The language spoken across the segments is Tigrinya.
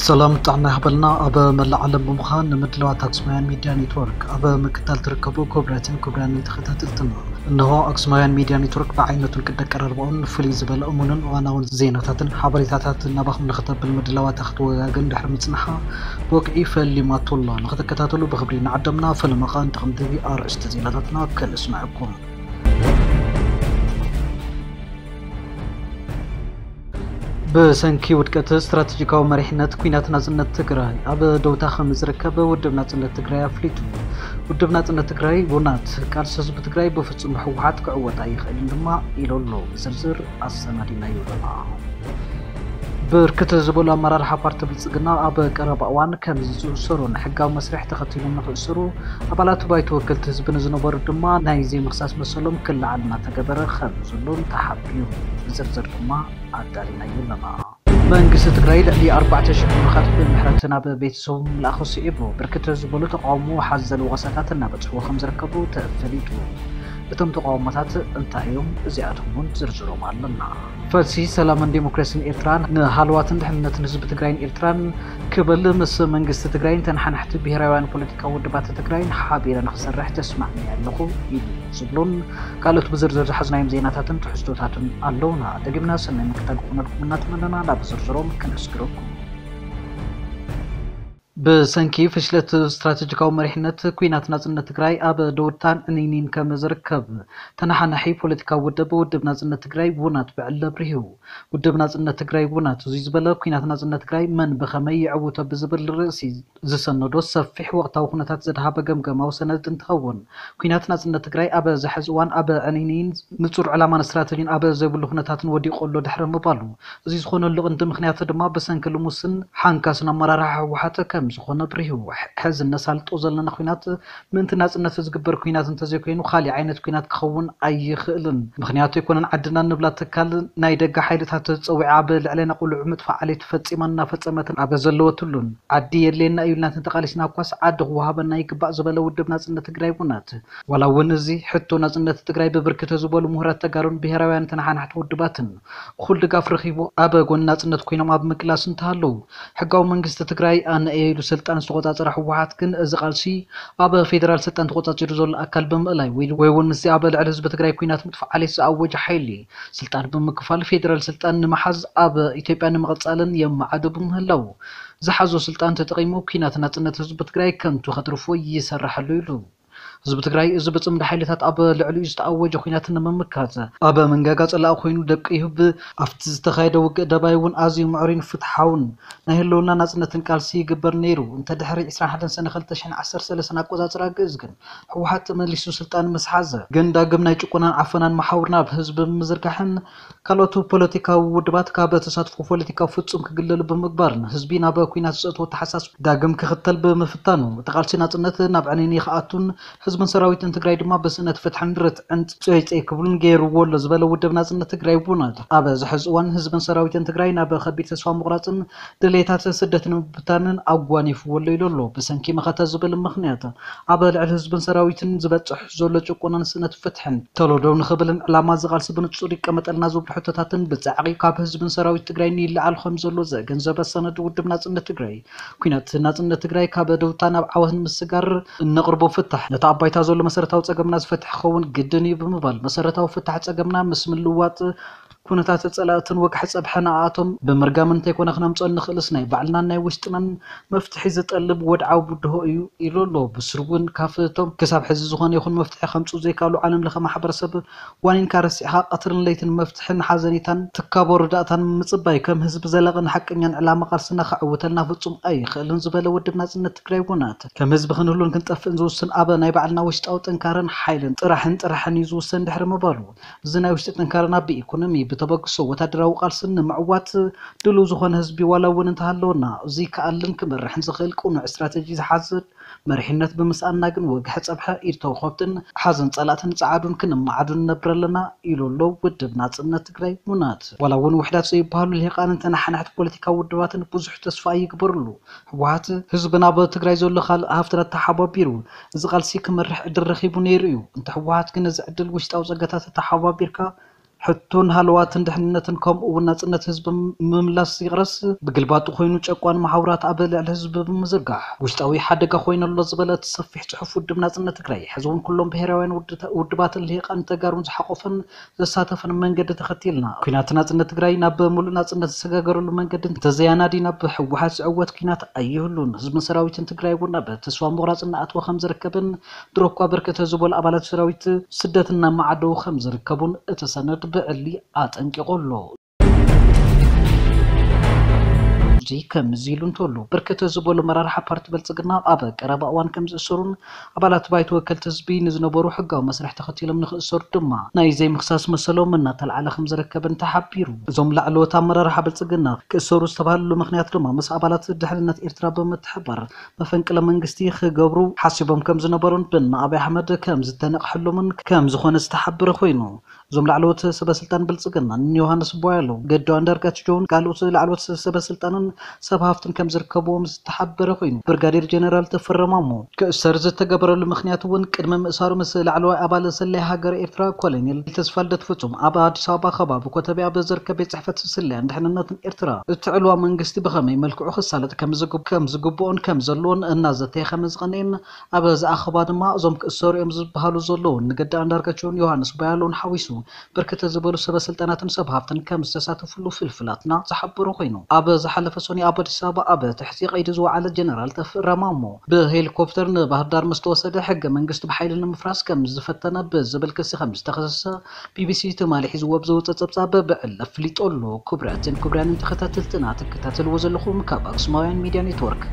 ሰላም ጥዕና ይሃበልና። ኣብ መላእ ዓለም ብምዃን ንምድላዋት ኣክሱማውያን ሚድያ ኔትወርክ ኣብ ምክታል ትርከቡ ክቡራትን ክቡራንን ተኸታተልትና፣ እንሆ ኣክሱማውያን ሚድያ ኔትወርክ ብዓይነቱን ቅዲ ኣቀራርባኡን ፍልይ ዝበለ እሙንን እዋናውን ዜናታትን ሓበሬታታትን ናባኹም ንኽተብል ምድላዋታ ክትወጋግን ድሕሪ ምጽንሓ ብወግዒ ፈሊማቶ ኣሎ። ንኽትከታተሉ ብኽብሪ ንዓደምና። ፈለማ ኸኣ ንተቐምቲ ኣርእስቲ ዜናታትና ከነስምዐኩም። ብሰንኪ ውድቀት ስትራቴጂካዊ መሪሕነት፣ ኩናት ናጽነት ትግራይ ኣብ ደውታ ከም ዝርከብ ውድብ ናጽነት ትግራይ ኣፍሊጡ። ውድብ ናጽነት ትግራይ፣ ውናት፣ ቃልሲ ህዝቢ ትግራይ ብፍጹም ብህወሓት ክዕወት ኣይኽእልን ድማ ኢሉ ኣሎ። ብዝርዝር ኣሰናዲናዮ ኣለና። ብርክት ዝበሉ ኣመራርሓ ፓርቲ ብልጽግና ኣብ ቀረባ እዋን ከም ዝእሰሩን ሕጋዊ መስርሕ ተኸቲሎም ንኽእሰሩ ኣባላት ባይቶ ወከልቲ ህዝቢ ንዝነበሩ ድማ ናይ ዘይምኽሳስ መሰሎም ክለዓል እናተገበረ ከም ዘሎን ተሓቢሩ። ብዝርዝር ድማ ኣዳሊናዮ ኣለና። መንግስቲ ትግራይ ልዕሊ ኣርባዕተ ሽሕ ምሩኻት ብምሕረት ናብ ቤተሰቦም ምልኣኹ ስዒቡ፣ ብርክት ዝበሉ ተቃውሞ ሓዘል ወቐሳታት እናበጽሕዎ ከም ዝርከቡ ተፈሊጡ። እቶም ተቃውሞታት እንታይ እዮም? እዚኣቶም እውን ዝርዝሮም ኣለና። ፈልሲ ሰላምን ዲሞክራሲን ኤርትራ ንሃለዋትን ድሕንነትን ህዝቢ ትግራይን ኤርትራን ክብል ምስ መንግስቲ ትግራይን ተነሓናሕቲ ብሄራውያን ፖለቲካዊ ውድባት ትግራይን ሓቢረ ንኽሰርሕ ተስማዕሚዐ ኣለኹ ኢሉ ዝብሉን ካልኦት ብዝርዝር ዝሓዝናዮም ዜናታትን ትሕዝቶታትን ኣለውና። ደጊምና ሰናይ ምክታል ክኾነልኩም እናተመነና ናብ ዝርዝሮም ክነስግረኩም። ብሰንኪ ፍሽለት ስትራቴጂካዊ መሪሕነት፣ ኩናት ናጽነት ትግራይ ኣብ ደውታን ዕንይንይን ከም ዝርከብ ተነሓናሒ ፖለቲካዊ ውድብ፣ ውድብ ናጽነት ትግራይ፣ ውናት፣ ብዕሊ ኣብሪሁ። ውድብ ናጽነት ትግራይ፣ ውናት፣ እዙይ ዝበለ ኩናት ናጽነት ትግራይ መን ብኸመይ ይዕውቶ ብዝብል ርእሲ ዝሰነዶ ሰፊሕ ወቕታዊ ኩነታት ዘድሃበ ገምገማዊ ሰነድ እንትኸውን፣ ኩናት ናጽነት ትግራይ ኣብ ዝሐዚ እዋን ኣብ ዕንይንይን ንጹር ዕላማን ስትራተጂን ኣብ ዘይብሉ ኩነታትን ወዲቑ ኣሎ ድሕሪ ምባሉ፣ እዚ ዝኾነሉ ቀንዲ ምኽንያት ድማ ብሰንኪ ልሙስን ሓንካስን ኣመራርሓ ህወሓት ከም ዝኾነ ኣብሪሁ። ሐዚ እነሳልጦ ዘለና ኩናት ምእንቲ ናጽነት ዝግበር ኩናት እንተዘይኮይኑ፣ ካሊእ ዓይነት ኩናት ክኸውን ኣይኽእልን። ምኽንያቱ ኣይኮነን ዓድና ንብላ ትካል ናይ ደገ ሓይልታት ጸዊዓ ኣብ ልዕሌና ቅሉዕ ምጥፋእ ዓሌት ፈጺማን እናፈጸመትን ኣብ ዘለወትሉን፣ ዓዲ የድልየና እዩ ኢልና እንተተቓሊስና እኳስ ዓዲ ክወሃበና ይግባእ ዝበለ ውድብ ናጽነት ትግራይ ውናት፣ ዋላ እውን እዚ ሕቶ ናጽነት ትግራይ ብብርክት ዝበሉ ምሁራት ተጋሩን ብሄራውያን ተነሓናሕቲ ውድባትን እኹል ድጋፍ ረኺቡ ኣብ ጎኒ ናጽነት ኮይኖም ኣብ ምቅላስ እንተሃለዉ፣ ሕጋዊ መንግስቲ ትግራይ ኣነ እየ ኢሉ ስልጣን ዝተቖጻጸረ ህወሓት ግን እዚ ቃልሲ ኣብ ፌደራል ስልጣን ተቖጻጺሩ ዘሎ ኣካል ብምእላይ ወይ፣ ወይ እውን ምስዚ ኣብ ልዕሊ ህዝቢ ትግራይ ኩናት ምጥፋእ ዓሌት ዝኣወጀ ሓይሊ ስልጣን ብምክፋል ፌደራል ስልጣን ንምሓዝ ኣብ ኢትዮጵያ ንምቕጻልን የመዓዶ ብምህላዉ ዝሓዞ ስልጣን ተጠቒሙ ኩናት ናጽነት ህዝቢ ትግራይ ከንቱ ከትርፎ ይሰርሕ ኣሎ ኢሉ። ህዝቢ ትግራይ እዚ ብጽምዲ ሓይልታት ኣብ ልዕሊኡ ዝተኣወጀ ኩናት ንምምካት ኣብ መንጋጋ ጸላኢ ኮይኑ ደቂሁ ብ-፣ ኣብቲ ዝተኻየደ ውግእ ደባይ እውን ኣዝዩ ምዕሩይን ፍትሓውን ናይ ህልውና ናጽነትን ቃልሲ ይግበር ነይሩ። እንተ ድሕሪ ዕስራን ሓደን ሰነ ክልተ ሽሕን ዓሰርተ ሰለስተን ኣቆጻጽራ ግእዝ ግን ህወሓት ተመሊሱ ስልጣን ምስ ሓዘ ግን ዳግም ናይ ጭቆናን ዓፈናን መሓውር ናብ ህዝቢ ብምዝርጋሕን ካልኦት ፖለቲካዊ ውድባት ካብ ተሳትፎ ፖለቲካ ፍጹም ክግለሉ ብምግባርን ህዝቢ ናብ ኩናት ዘእተዎ ኣተሓሳስባ ዳግም ክኽተል ብምፍታኑ፣ እቲ ቃልሲ ናጽነት ናብ ዕንይንይ ክኣቱን ህዝብን ሰራዊትን ትግራይ ድማ ብስእነት ፍትሕን ርትዕን ጸይጸይ ክብሉን ገይርዎ ኣሎ ዝበለ ውድብ ናጽነት ትግራይ ውናት፣ ኣብ እዚ ሕዚ እዋን ህዝብን ሰራዊትን ትግራይ ናብ ከቢድ ተስፋ ምቑራጽን ድሌታት ስደትን ምብታንን ኣጓኒፍዎ ኣሎ ኢሉ ኣሎ። ብሰንኪ መኸተ ዝብል ምኽንያት ኣብ ልዕሊ ህዝብን ሰራዊትን ዝበጽሕ ዘሎ ጭቆናን ስእነት ፍትሕን ተሎ ደው ንኽብልን ዕላማ እዚ ቃልሲ ብንጹር ይቀመጠልና ዝብሉ ሕቶታትን ብጻዕቒ ካብ ህዝብን ሰራዊት ትግራይን ይለዓል ከም ዘሎ ዘገንዘበ ሰነድ ውድብ ናጽነት ትግራይ፣ ኩናት ናጽነት ትግራይ ካብ ደውታ ናብ ዓወት ንምስጋር እነቕርቦ ፍታሕ ነታ ኣብ ባይታ ዘሎ መሰረታዊ ጸገምና ዝፈትሕ ክኸውን ግድን እዩ ብምባል፣ መሰረታዊ ፍታሕ ጸገምና ምስ ምልዋጥ ኩነታት ጸላእትን ወግሐ ጸብሐ ንኣቶም ብምርጋም እንተይኮነ ክነምጽኦ እንኽእልስ ናይ ባዕልናን ናይ ውሽጥናን መፍትሒ ዝጠልብ ወድዓዊ ብድሆ እዩ ኢሉ ኣሎ። ብስሩ እውን ካብቶም ክሳብ ሕዚ ዝኾነ ይኹን መፍትሒ ከምጽኡ ዘይከኣሉ ዓለም ለኸ ማሕበረሰብ ዋኒንካ ረሲዕኻ ቀትርን ለይትን መፍትሕን ሓዘኔታን ትካቦ ርዳእታን ምጽባይ ከም ህዝቢ ዘላቕን ሓቀኛን ዕላማ ቃልስና ከዕውተልና ፍጹም ኣይኽእልን ዝበለ ውድብ ናጽነት ትግራይ ውናት፣ ከም ህዝቢ ክንህሉን ክንጠፍእን ዝውስን ኣብ ናይ ባዕልና ውሽጣዊ ጥንካረን ሓይልን ጥራሕን ጥራሕን እዩ ዝውሰን ድሕሪ ምባሉ፣ እዚ ናይ ውሽጢ ጥንካረና ብኢኮኖሚ፣ ብተበግሶ ወታደራዊ ቃልስን ንምዕዋት ድሉው ዝኾነ ህዝቢ ዋላ እውን እንተሃለወና፣ እዚ ከኣልን ክመርሕን ዝኽእል ቅኑዕ ስትራተጂ ዝሓዘ መሪሕነት ብምስኣንና ግን ወግሐ ጸብሐ ኢድ ተውኸብትን ሓዘን ጸላእትን ጸዓዱን ክንመዓዱ ንነብር ኣለና ኢሉ ኣሎ ውድብ ናጽነት ትግራይ ውናት። ዋላ እውን ውሕዳት ዘይበሃሉ ልሂቃንን ተነሓናሕቲ ፖለቲካዊ ውድባትን ብዙሕ ተስፋ ኣይግበርሉ። ህወሓት ህዝብና ኣብ ትግራይ ዘሎ ካልእ ሃፍትታት ተሓባቢሩ እዚ ቃልሲ ክመርሕ ዕድል ረኺቡ ነይሩ እዩ። እንተ ህወሓት ግን እዚ ዕድል ውሽጣዊ ጸጋታት ተሓባቢርካ ሕቶን ሃለዋትን ድሕንነትን ከምኡ እውን ናጽነት ህዝቢ ምምላስ ይቕረስ፣ ብግልባጡ ኮይኑ ጨቋን መሓውራት ኣብ ልዕሊ ህዝቢ ብምዝርጋሕ ውሽጣዊ ሓደጋ ኮይኑ ኣሎ ዝበለ እቲ ሰፊሕ ጽሑፍ ውድብ ናጽነት ትግራይ፣ ሕዚ እውን ኩሎም ብሄራውያን ውድባትን ልሂቃን ተጋሩን ዝሓቆፈን ዘሳተፈን መንገዲ ተኸቲልና ኩናት ናጽነት ትግራይ ናብ ምሉእ ናጽነት ዝሰጋገረሉ መንገዲ እንተዘያናዲና ብህወሓት ዝዕወት ኩናት ኣይህሉን። ህዝብን ሰራዊትን ትግራይ እውን ኣብ ተስፋ ምቑራጽ እናኣተወ ከም ዝርከብን ድሮ እኳ ብርክት ዝበሉ ኣባላት ሰራዊት ስደት እናመዓደው ከም ዝርከቡን እቲ ሰነድ ብዕሊ ኣጠንቂቑ ኣሎ። እዚ ከምዚ ኢሉ እንተሎ ብርክት ዝበሉ መራርሓ ፓርቲ ብልጽግና ኣብ ቀረባ እዋን ከም ዝእሰሩን ኣባላት ባይቶ ወከልቲ ህዝቢ ንዝነበሩ ሕጋዊ መስርሕ ተኸቲሎም ንኽእሰሩ ድማ ናይ ዘይምኽሳስ መሰሎም እናተልዓለ ከም ዝርከብን ተሓቢሩ። እዞም ላዕለዎት ኣመራርሓ ብልጽግና ክእሰሩ ዝተባህልሉ ምኽንያት ድማ ምስ ኣባላት ድሕንነት ኤርትራ ብምትሕባር መፈንቅለ መንግስቲ ክገብሩ ሓሲቦም ከም ዝነበሩን ብን ኣብይ ኣሕመድ ከም ዝተነቕሐሎምን ከም ዝኾነ ዝተሓበረ ኮይኑ፣ እዞም ላዕለዎት ሰበ ስልጣን ብልጽግና ንዮሃንስ ቧያለው፣ ገዱ ኣንዳርጋቸውን ካልኦት ላዕለዎት ሰበ ስልጣንን ሰብ ሃፍትን ከም ዝርከብዎም ዝተሓበረ ኮይኑ፣ ብርጋዴር ጀነራል ተፈረ ማሞ ክእሰር ዝተገበረሉ ምኽንያት እውን ቅድሚ ምእሳሩ ምስ ላዕለዋይ ኣባል ሰላይ ሃገር ኤርትራ ኮሎኔል ተስፋልደት ፍጹም ኣብ ኣዲስ ኣበባ ከባቢ ኮተቤ ኣብ ዝርከብ ቤት ጽሕፈት ስለያን ድሕንነትን ኤርትራ እቲ ዕልዋ መንግስቲ ብኸመይ መልክዑ ክሳለጥ ከም ዝግብ-፣ ከም ዝግብኦን ከም ዘለዎን እናዘተየ ከም ዝቐንኤን ኣብ ዝኣኸባ ድማ እዞም ክእሰሩ እዮም ዝበሃሉ ዘለዉ ንገዲ ኣንዳርጋቸውን ዮሃንስ ቧያለውን ሓዊሱ ብርክት ዝበሉ ሰበ ስልጣናትን ሰብ ሃፍትን ከም ዝተሳተፉሉ ፍልፍላትና ዝሓበሩ ኮይኑ፣ ኣብ ዝሓለፈ ሰኑይ ኣብ ኣዲስ ኣበባ ኣብ ትሕቲ ቀይዲ ዝወዓለ ጀነራል ተፈራ ማሞ ብሄሊኮፕተር ንባህር ዳር ምስ ተወሰደ ሕገ መንግስቲ ብሓይሊ ንምፍራስ ከም ዝፈተነ ብዝብል ክሲ ከም ዝተኸሰሰ ቢቢሲ ትማሊ ሒዝዎ ብዝወፀ ፀብፃብ ብዕሊ ኣፍሊጡ ኣሎ። ክቡራትን ክቡራንን ተኸታተልትና ትከታተልዎ ዘለኹም ካብ ኣክሱማውያን ሚድያ ኔትወርክ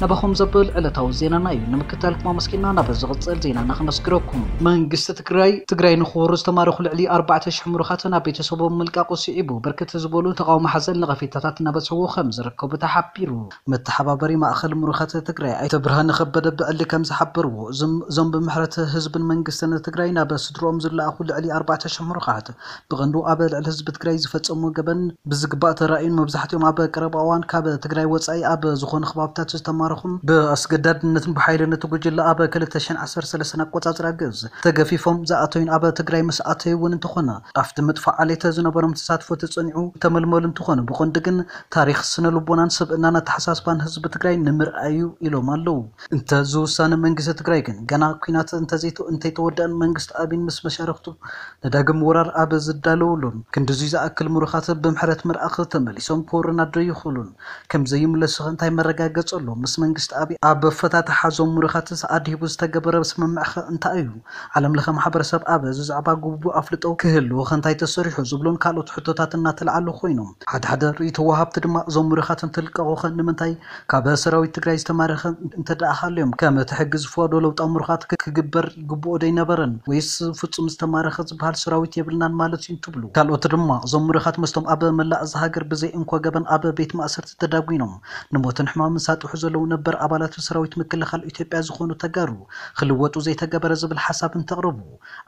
ናባኹም ዘብል ዕለታዊ ዜናና እዩ። ንምክታልኩም ኣመስጊና ናብ ዝቕፅል ዜናና ክነስግረኩም። መንግስቲ ትግራይ፣ ትግራይ ንክወሩ ዝተማረኹ ልዕሊ ኣርባዕተ ሺሕ ምሩኻት ናብ ቤተሰቦም ምልቃቑ ስዒቡ፣ ብርክት ዝበሉ ተቓውሞ ሓዘል ነቐፌታታት እናበፅሕዎ ከም ዝርከቡ ተሓቢሩ። መተሓባበሪ ማእኸል ምሩኻት ትግራይ ኣይተ ብርሃነ ከበደ ብዕሊ ከም ዝሓበርዎ፣ እዞም፣ እዞም ብምሕረት ህዝብን መንግስትን ትግራይ ናብ ስድሮኦም ዝለኣኹ ልዕሊ ኣርባዕተ ሺሕ ምሩኻት ብቐንዱ ኣብ ልዕሊ ህዝቢ ትግራይ ዝፈጸሙ ገበን ብዝግባእ ተራእዩን መብዛሕትኦም ኣብ ቀረባ እዋን ካብ ትግራይ ወጻኢ ኣብ ዝኾኑ ከባብታት ዝተማረኹን ብኣስገዳድነትን ብሓይልን እቲ ጉጅለ ኣብ ክልተ ሽሕን ዓሰርተ ሰለስተን ኣቆጻጽራ ግእዝ ተገፊፎም ዝኣተዩን ኣብ ትግራይ ምስ ኣተዩ እውን እንተኾነ ኣብቲ ምጥፋእ ዓሌት ዝነበሮም ተሳትፎ ተጸኒዑ ተመልመሉ እንተኾነ ብቐንዱ ግን ታሪኽ ስነ ልቦናን ስብእናን ኣተሓሳስባን ህዝቢ ትግራይ ንምርኣዩ ኢሎም ኣለዉ። እንተ ዝውሳነ መንግስቲ ትግራይ ግን ገና ኲናት እንተዘይተ-፣ እንተይተወደአን መንግስቲ ኣብይን ምስ መሻርኽቱ ንዳግም ወራር ኣብ ዝዳለወሉን ክንድዙይ ዝኣክል ምሩኻት ብምሕረት ምርኣኽ ተመሊሶም ክወሩና ዶ ይኽእሉን ከም ዘይምለሱ እንታይ መረጋገፂ ኣሎ? ምስ መንግስቲ ኣብይ ኣብ ኣፈታትሓ እዞም ምሩኻትስ ኣድሂቡ ዝተገበረ ስምምዕኸ እንታይ እዩ? ዓለም ለኸ ማሕበረሰብ ኣብ እዚ ዛዕባ ግቡእ ኣፍልጦ ክህልዎ እንታይ ተሰሪሑ ዝብሉን ካልኦት ሕቶታት እናተልዓሉ ኮይኖም፣ ሓደ ሓደ ርእይቶ ወሃብቲ ድማ እዞም ምሩኻት እንትልቀቑኸ ንምንታይ ካብ ሰራዊት ትግራይ ዝተማረኸ እንተደኣ ሃልዮም ከም እቲ ሕጊ ዝፈቕዶ ለውጣዊ ምሩኻት ክ-፣ ክግበር ይግብኦ ዶ ኣይነበረን? ወይስ ፍጹም ዝተማረኸ ዝበሃል ሰራዊት የብልናን ማለት እዩ እንትብሉ፣ ካልኦት ድማ እዞም ምሩኻት ምስቶም ኣብ መላእ እዛ ሃገር ብዘይ እንኮ ገበን ኣብ ቤት ማእሰርቲ ተዳጒኖም ንሞትን ሕማምን ሳጥሑ ዘለዉ ነበር ኣባላት ሰራዊት ምክልኻል ኢትዮጵያ ዝኾኑ ተጋሩ ክልወጡ ዘይተገበረ ዝብል ሓሳብ እንተቕርቡ፣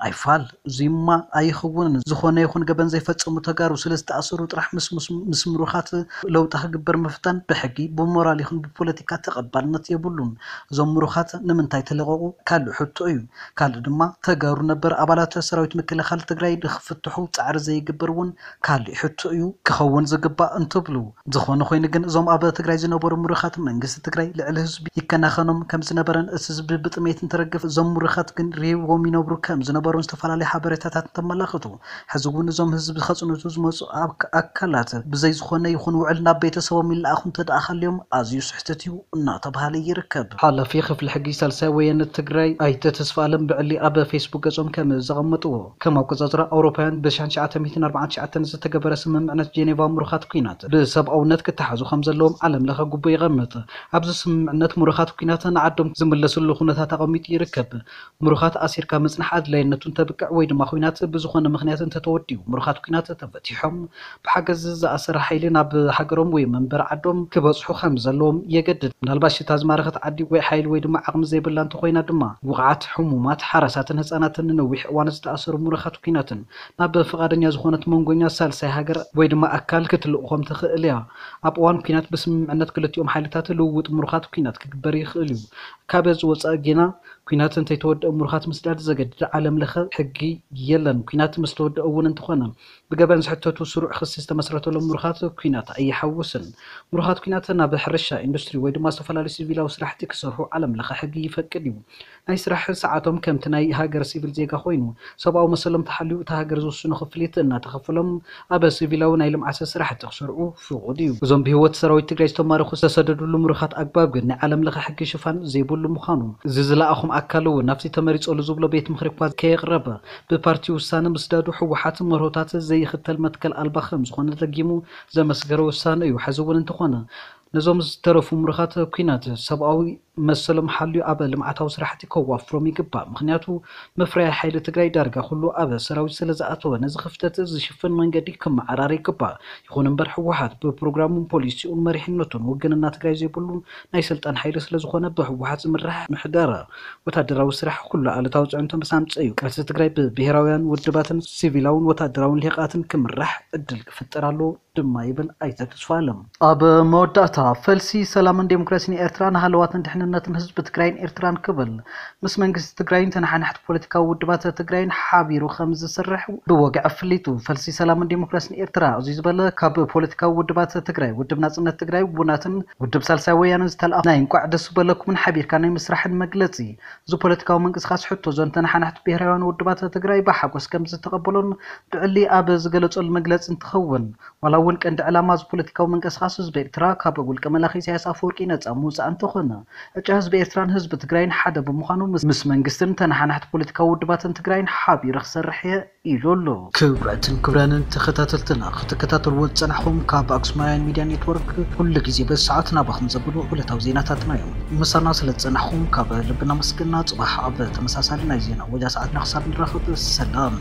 ኣይፋል፣ እዚማ ኣይኽውንን። ዝኾነ ይኹን ገበን ዘይፈጸሙ ተጋሩ ስለ ዝተኣሰሩ ጥራሕ ምስ፣ ምስ፣ ምስ ምሩኻት ለውጢ ክግበር ምፍታን ብሕጊ፣ ብሞራል ይኹን ብፖለቲካ ተቐባልነት የብሉን። እዞም ምሩኻት ንምንታይ ተለቐቑ? ካልእ ሕቶ እዩ። ካልእ ድማ ተጋሩ ነበር ኣባላት ሰራዊት ምክልኻል ትግራይ ንኽፍትሑ ጻዕሪ ዘይግበር እውን ካልእ ሕቶ እዩ ክኸውን ዝግባእ እንትብሉ፣ ዝኾነ ኮይኑ ግን እዞም ኣብ ትግራይ ዝነበሩ ምሩኻት መንግስቲ ትግራይ ልዕሊ ህዝቢ ይከናኸኖም ከም ዝነበረን እቲ ህዝቢ ብጥሜት እንተረገፈ እዞም ምሩኻት ግን ርሂዎም ይነብሩ ከም ዝነበሩን ዝተፈላለዩ ሓበሬታታት እንተመላኽቱ፣ ሕዚ እውን እዞም ህዝቢ ከፅንቱ ዝመፁ ኣክ-፣ ኣካላት ብዘይ ዝኾነ ይኹን ውዕል ናብ ቤተሰቦም ይለኣኹ እንተደኣ ሃልዮም ኣዝዩ ስሕተት እዩ እናተባሃለ ይርከብ። ሓላፊ ክፍሊ ሕጊ ሳልሳይ ወያነ ትግራይ ኣይተ ተስፋኣለም ብዕሊ ኣብ ፌስቡክ ገጾም ከም ዘቐመጥዎ፣ ከም ኣቆጻጽራ ኣውሮፓውያን ብሽሕን ትሽዓተ ሚእትን ኣርባዓን ትሽዓተን ዝተገበረ ስምምዕነት ጄኔቫ ምሩኻት ኲናት ብሰብኣውነት ክተሓዙ ከም ዘለዎም ዓለም ለኸ ግቡእ የቐምጥ። ኣብዚ ስምምዕነት ምሩኻት ኲናት ንዓዶም ዝምለስሉ ኩነታት ኣቐሚጡ ይርከብ። ምሩኻት ኣሲርካ ምጽናሕ ኣድላይነቱ እንተብቅዕ ወይ ድማ ኲናት ብዝኾነ ምኽንያት እንተተወዲኡ፣ ምሩኻት ኲናት ተፈቲሖም ብሓገዝ ዝኣሰረ ሓይሊ ናብ ሃገሮም ወይ መንበሪ ዓዶም ክበጽሑ ከም ዘለዎም የገድድ። ምናልባሽ እታ ዝማረኸት ዓዲ ወይ ሓይሊ ወይ ድማ ዓቕሚ ዘይብላ እንተኾይና ድማ፣ ውቑዓት፣ ሕሙማት፣ ሓራሳትን ህጻናትን ንነዊሕ እዋን ዝተኣሰሩ ምሩኻት ኲናትን ናብ ፍቓደኛ ዝኾነት መንጎኛ ሳልሳይ ሃገር ወይ ድማ ኣካል ክትልእኾም ትኽእል እያ። ኣብ እዋን ኲናት ብስምምዕነት ክልቲኦም ሓይልታት ልውውጥ ምሩኻት ኲናት ክግበር ይኽእል እዩ። ካብ እዚ ወጻኢ ጌና ኲናት እንተይተወደአ ምሩኻት ምስዳድ ዘገድድ ዓለም ለኸ ሕጊ የለን። ኲናት ምስ ተወደአ እውን እንተኾነ ብገበን ዝሕተቱ ስሩዕ ክሲ ዝተመስረተሎም ምሩኻት ኲናት ኣይሓውስን። ምሩኻት ኲናት ናብ ሕርሻ፣ ኢንዱስትሪ ወይ ድማ ዝተፈላለዩ ሲቪላዊ ስራሕቲ ክሰርሑ ዓለም ለኸ ሕጊ ይፈቅድ እዩ። ናይ ስራሕ ሰዓቶም ከምቲ ናይ ሃገር ሲቪል ዜጋ ኮይኑ፣ ሰብኣዊ መሰሎም ተሓልዩ እታ ሃገር ዝውስኖ ክፍሊት እናተኸፈሎም ኣብ ሲቪላዊ ናይ ልምዓት ስራሕቲ ክሰርዑ ፍቑድ እዩ። እዞም ብህይወት ሰራዊት ትግራይ ዝተማረኹ ዝተሰደድሉ ምሩኻት ኣግባብ ግን ናይ ዓለም ለኸ ሕጊ ሽፋን ዘይብሉ ምዃኑ፣ እዚ ዝለኣኹም ኣካል እውን ናብቲ ተመሪጸሉ ዝብሎ ቤት ምኽሪ እኳ ከየቕረበ ብፓርቲ ውሳነ ምስዳዱ ህወሓት መርሆታት ዘይኽተል መትከል ኣልባ ከም ዝኾነ ደጊሙ ዘመስገረ ውሳነ እዩ። ሕዚ እውን እንተኾነ ነዞም ዝተረፉ ምሩኻት ኲናት ሰብኣዊ መሰሎም ሓልዩ ኣብ ልምዓታዊ ስራሕቲ ከዋፍሮም ይግባእ። ምኽንያቱ መፍረያ ሓይሊ ትግራይ ዳርጋ ኩሉ ኣብ ሰራዊት ስለ ዝኣተወ ነዚ ክፍተት ዝሽፍን መንገዲ ክመዓራረ ይግባእ። ይኹን እምበር ህወሓት ብፕሮግራሙን ፖሊሲኡን መሪሕነቱን ውግንና ትግራይ ዘይብሉ ናይ ስልጣን ሓይሊ ስለ ዝኾነ ብህወሓት ዝምራሕ ምሕደራ ወታደራዊ ስራሕ ኩሉ ኣሉታዊ ፅዕንቶ ምስ ኣምፀ እዩ ቃልሲ ትግራይ ብብሄራውያን ውድባትን ሲቪላውን ወታደራውን ልሂቃትን ክምራሕ ዕድል ክፍጠር ኣለዎ ድማ ይብል ኣይተ ተስፋለም። ኣብ መወዳእታ ፈልሲ ሰላምን ዴሞክራሲን ኤርትራ ንሃለዋትን ድሕንነትን ህዝቢ ትግራይን ኤርትራን ክብል ምስ መንግስቲ ትግራይን ተነሓናሕቲ ፖለቲካዊ ውድባት ትግራይን ሓቢሩ ከም ዝሰርሕ ብወግዒ ኣፍሊጡ። ፈልሲ ሰላምን ዴሞክራሲን ኤርትራ እዚ ዝበለ ካብ ፖለቲካዊ ውድባት ትግራይ ውድብ ናጽነት ትግራይ ውናትን ውድብ ሳልሳይ ወያነን ዝተልኣኹ ናይ እንቋዕ ደስ በለኩምን ሓቢርካ ናይ ምስራሕን መግለጺ እዚ ፖለቲካዊ ምንቅስቃስ ሕቶ እዞን ተነሓናሕቲ ብሄራውያን ውድባት ትግራይ ብሓጎስ ከም ዝተቐበሎን ብዕሊ ኣብ ዝገለጸሉ መግለጺ እንትኸውን፣ ዋላ እውን ቀንዲ ዕላማ እዚ ፖለቲካዊ ምንቅስቃስ ህዝቢ ኤርትራ ካብ ውልቀ መላኺ ኢሳያስ ኣፈወርቂ ነጻ ምውጻእ እንተኾነ፣ ዕጫ ህዝቢ ኤርትራን ህዝቢ ትግራይን ሓደ ብምዃኑ ምስ ምስ መንግስትን ተነሓናሕቲ ፖለቲካዊ ውድባትን ትግራይን ሓቢሩ ክሰርሕ እየ ኢሉ ኣሎ። ክቡራትን ክቡራንን ተኸታተልትና ክትከታተልዎ ዝጸናሕኹም ካብ ኣክሱማውያን ሚድያ ኔትወርክ ኩሉ ግዜ በዚ ሰዓት ናባኹም ዘብሉ ዕለታዊ ዜናታትና እዮም። ምሳና ስለ ዝጸናሕኹም ካብ ልቢ እናመስገና ጽባሕ ኣብ ተመሳሳሊ ናይ ዜና ወጃ ሰዓትና ክሳብ ንራኸብ ሰላም።